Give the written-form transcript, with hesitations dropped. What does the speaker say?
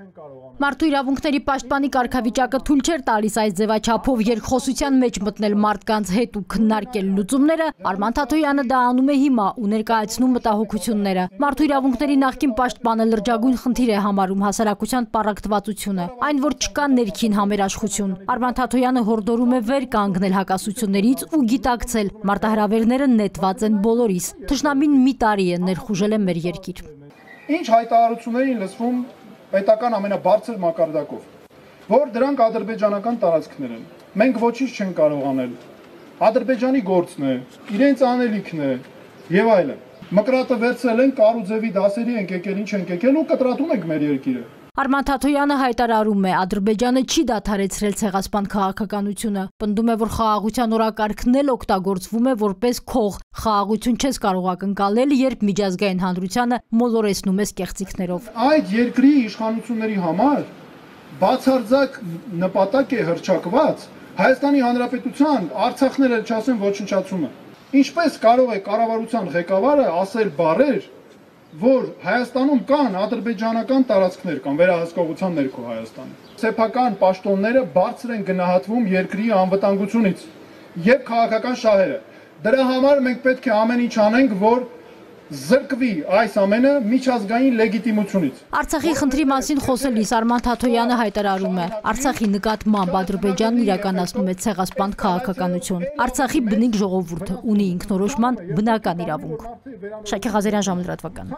Մարդու իրավունքների պաշտպանի կարգավիճակը թույլ չէր տալիս այս ձևաչափով երկխոսության մեջ մտնել մարդկանց հետ ու քննարկել լուծումները, Արման Թաթոյանը դա անում է հիմա ու ներկայացնում մտահոգությունները։ Մարդու իրավունքների նախկին պաշտպանը լրջագույն խնդիր է համարում հասարակության պառակտվածությունը, այն որ չկա ներքին համերաշխություն։ Արման Թաթոյանը հորդորում է վեր կանգնել հակասություններից ու գիտակցել մարտահրավերները նետված են բոլորիս։ Թշնամին մի տարի է ներխուժել է մեր երկիր։ Ինչ հայտարարությունների լսվում պետական ամենաբարձր մակարդակով, որ դրանք ադրբեջանական տարածքներ են։ Մենք ոչինչ չենք կարող անել։ Ադրբեջանի գործն է, իրենց անելիքն է եւ այլն։ Մկրատը վերցրել են Կարուձևի դասերի ենք եկել, ինչ ենք եկել ու կտրատում ենք մեր երկիրը։ Արման Թաթոյանը հայտարարում է, Ադրբեջանը չի դադարեցրել ցեղասպան քաղաքականությունը, պնդում է, որ խաղաղության օրակարգն էլ օգտագործվում է որպես քող, խաղաղություն չես կարող ակնկալել, երբ միջազգային հանրությանը մոլորեցնում ես կեղծիքներով։ Այդ երկրի իշխանությունների համար բացարձակ նպատակ է հռչակված Հայաստանի Հանրապետության Արցախն էլ չասեմ ոչնչացումը։ Ինչպես կարող է կառավարության ղեկավարը ասել բառեր, որ Հայաստանում կան ադրբեջանական տարածքներ կամ վերահսկողության ներքո Հայաստանի։ Սեփական պաշտոնները բարձր են գնահատվում երկրի անվտանգությունից եւ քաղաքական շահերը։ Դրա համար մենք պետք է ամեն ինչ անենք, որ զրկվի այս ամենը միջազգային լեգիտիմությունից։ Արցախի խնդրի մասին խոսելիս Արման Թաթոյանը հայտարարում է, Արցախի նկատմամբ Ադրբեջանն իրականացնում է ցեղասպան քաղաքականություն։ Արցախի բնիկ ժողովուրդը ունի ինքնորոշման բնական իրավունք։ Շակե Ղազարյան, Ժամը լրատվական։